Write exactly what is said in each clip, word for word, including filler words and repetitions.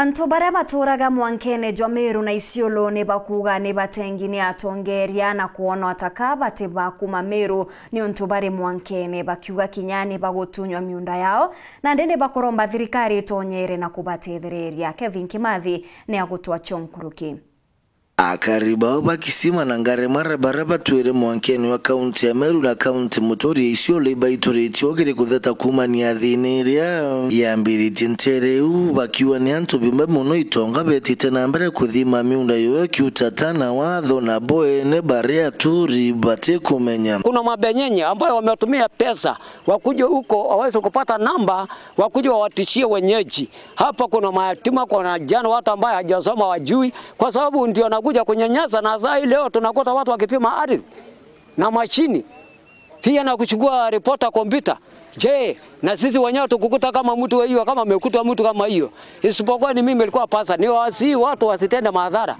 Antu baria baturaga mwankene jwa Meru na Isiolo ni bakuuga ni batengi ni atongeria na kwonwa ta ka bati ba kuuma Meru niuntu bari mwankene, bakiuga kinya ni bagutunywa miunda yao, nandi ni bakuromba thirikari itonyere na kubatethereria. Kevin Kimathi ni agutwachua nkuruki. Akari bao ba Kisima na Ngaremara baria batwire mwankene wa kaunti ya Meru na kaunti muturi ya Isiolo ibaituritie ugiri kutheta kuumania thiina iria yambiritie ntere iu, bakiuga ni antu bimwe mono itonga betite na mbere kuthima miunda yoyo kiutata na watho na bo ene bari aturi batikumenya. Kuna mabenyenye ambayo wametumia pesa wakuje huko waweze kupata namba, wakuje wawatishie wenyeji. Hapa kuna mayatima, kuna vijana, watu ambaye hajasoma wajui, kwa sababu ndio anakuja kunyanyasa, na saa hii leo tunakuta watu wakipima ardhi na mashini, pia na kuchukua reporter kompyuta. Je, na sisi wenyewe tukukuta kama mtu wa hiyo, kama amekutwa mtu kama hiyo? Isipokuwa ni mimi nilikuwa pasa, ni wasi watu wasitende madhara.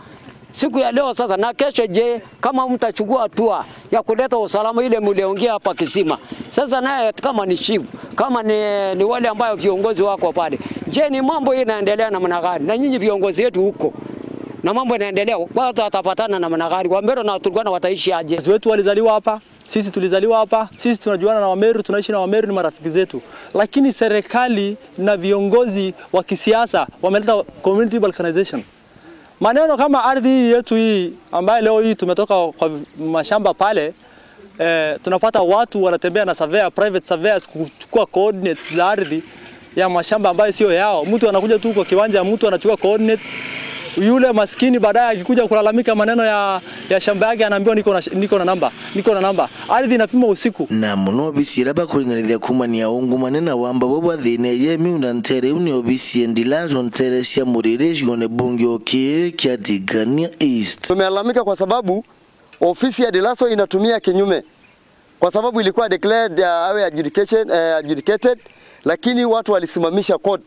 Siku ya leo sasa na kesho, je, kama mtachukua hatua ya kuleta usalama ile mliongea hapa Kisima? Sasa naye kama ni chief, kama ni, ni wale ambayo viongozi wako pale, je, ni mambo hii inaendelea namna gani? Na nyinyi viongozi wetu huko, na mambo inaendelea, watu watapatana namna gani? Wameru na Waturkana wataishi aje? Wazazi wetu walizaliwa hapa, sisi tulizaliwa hapa, sisi tunajuana na Wameru, tunaishi na Wameru, ni marafiki zetu. Lakini serikali na viongozi wa kisiasa wameleta community balkanization. Maneno kama ardhi hii yetu hii ambayo leo hii tumetoka kwa mashamba pale, eh, tunapata watu wanatembea na surveyor, private surveyors kuchukua coordinates za ardhi ya mashamba ambayo sio yao. Mtu anakuja tu kwa kiwanja ya mtu, anachukua coordinates. Yule maskini baadaye akikuja kulalamika maneno ya, ya shamba yake, anaambiwa, "Niko na sh-, niko na namba, niko na namba." Ardhi inapimwa usiku. Na mono obisi iria bakuringanithia kuumania ungumania na wamba bwa bwa thiina ya miunda ntere iu ni obisi ya Ndilazo ntere cia Muriri gicigoone bunge o kii kia Tigania East. Tumelalamika kwa sababu ofisi ya Ndilazo inatumia kinyume, kwa sababu ilikuwa declared, uh, awe adjudication, eh, adjudicated, lakini watu walisimamisha court.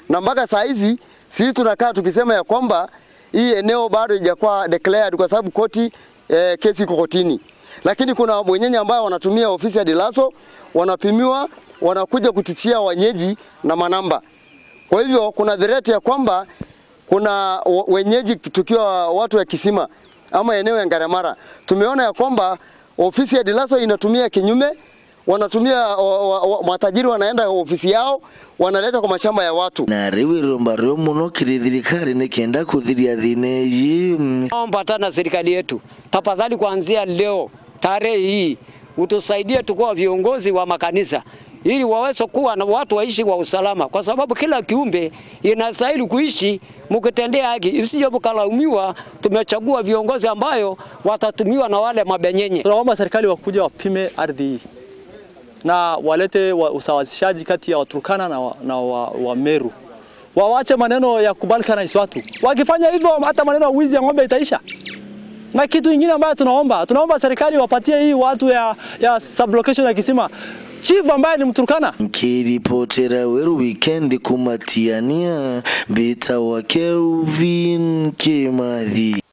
Na mpaka saa hizi sisi tunakaa tukisema ya kwamba hii eneo bado haijakuwa declared kwa sababu koti, eh, kesi iko kotini. Lakini kuna wenyeji ambao wanatumia ofisi ya Ndilazo, wanapimiwa, wanakuja kutishia wenyeji na manamba. Kwa hivyo kuna threat ya kwamba kuna w-, wenyeji tukiwa watu ya Kisima ama eneo ya Ngaremara, tumeona ya kwamba ofisi ya Ndilazo inatumia kinyume, wanatumia wa, wa, wa, matajiri wanaenda ofisi yao, wanaleta kwa mashamba ya watu. Na riu iromba rio mono kiri thirikari ni kenda kuthiria thiina iji. Naomba tena serikali yetu, tafadhali, kuanzia leo, tarehe hii, utusaidie tukuwa viongozi wa makanisa ili waweze kuwa na watu waishi kwa usalama, kwa sababu kila kiumbe inastahili kuishi mkitendea haki, isije mkalaumiwa tumechagua viongozi ambayo watatumiwa na wale mabenyenye. Tunaomba serikali wakuje wapime ardhi hii na walete wa-, usawazishaji kati ya Waturkana na wa-, na wa-, Wameru. Wawache maneno ya kubalkanize watu. Wakifanya hivyo, hata maneno ya wizi ya ng'ombe itaisha. Na kitu ingine ambayo tunaomba, tunaomba serikali wapatie hii watu ya, ya sublocation ya Kisima chief ambaye ni Mturkana. Nkiripotera Weru Weekend kuuma Tigania, mbitagwa Kelvin Kimathi.